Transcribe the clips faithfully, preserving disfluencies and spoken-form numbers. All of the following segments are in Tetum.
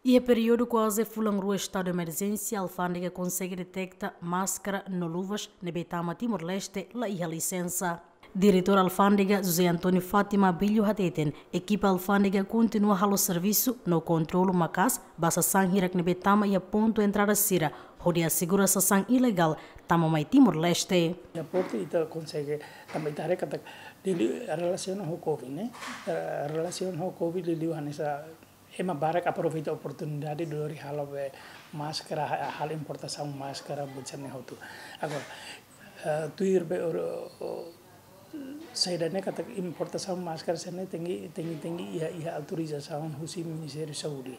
Iha períodu kuaze fulan rua estadu emerjénsia, alfándega konsege deteta máskara no luvas ne'ebé tama Timor-Leste la iha lisensa. Diretór Alfándega José António Fátima Abelho hateten, ekipa alfándega kontinua halo servisu no kontrolu maka'as ba sasán hirak ne'ebé tama iha pontu entrada sira, hodi asegura sasán ilegál tama mai Timor-Leste. Iha portu ita konsege, tanba ita haree katak, liuliu relasiona ho covid ne'e, eh, relasiona ho covid liuliu hanesan ema barak aproveita oportunidade hodi halo be máskara, ha-, halo importasaun máskara, buat sira-ne'e hotu. Agora, eh, tuir be or-, o-, saida ne'e katak importasaun máskara sira-ne'e tenke, tenke, tenke iha, iha autorizasaun husi Ministériu Saúde.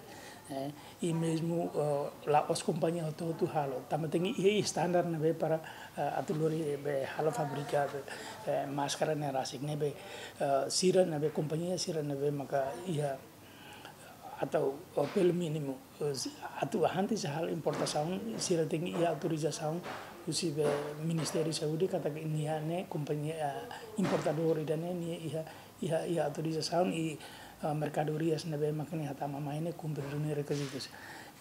Eh, i mezmu, eh, la'ós kompañia hotu-hotu halo. Tanba tenke iha, iha standar ne'ebé para, eh, atu lori be halo fabrika be, eh, máskara ne'e rasik ne'ebé, eh, sira ne'ebé kompañia sira ne'ebé maka iha atau, eh, pelu mínimu, eh, si-, atu antes halo importasaun, sira tenke iha autorizasaun husi be Ministériu Saúde katak nia ne'e kompañia, eh, importadór ida-ne'e nia iha, iha, iha autorizasaun i, eh, merkadorias ne'ebé maka nia hatama mai ne'e kumpre duni rekizitus.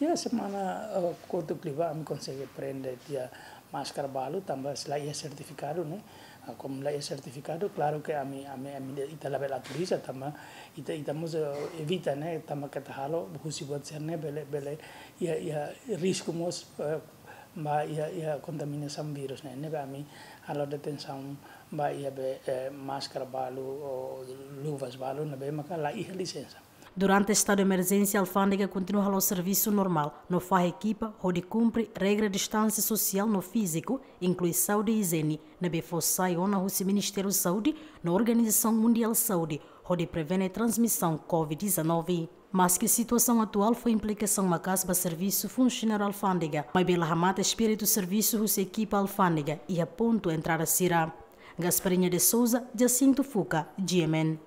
Iha semana, eh, kotuk liubá ami konsege prende tiha máskara balu tanba se la iha sertifikadu ne'e. Ah, komu la iha sertifikadu, klaru ke ami, ami, ami ita labele autoriza tanba ita, ita mós, eh, evita ne'e, tanba keta halo husi buat sira-ne'e bele, bele iha, iha risku mós, eh, ba iha, iha kontaminasaun vírus ne'e. Ne'ebé ami halo detensaun ba iha be, eh, máskara balu, ou luvas balu ne'ebé maka la iha lisensa. Durante estadu emerjénsia, alfándega kontinua halo servisu normál, no fahe ekipa hodi kumpre regra distánsia sosiál no fíziku, inklui saúde i ijiene, ne'ebé fó sai ona husi Ministériu Saúde no Organizasaun Mundiál Saúde, hodi prevene transmisaun covid dezanove. Maske situasaun atuál fó implikasaun maka'as ba servisu funsionáriu alfándega, maibé la hamate espíritu servisu husi ekipa alfándega iha pontu entrada sira. Gasparinha de Souza, Jacinto Fuca, G M N.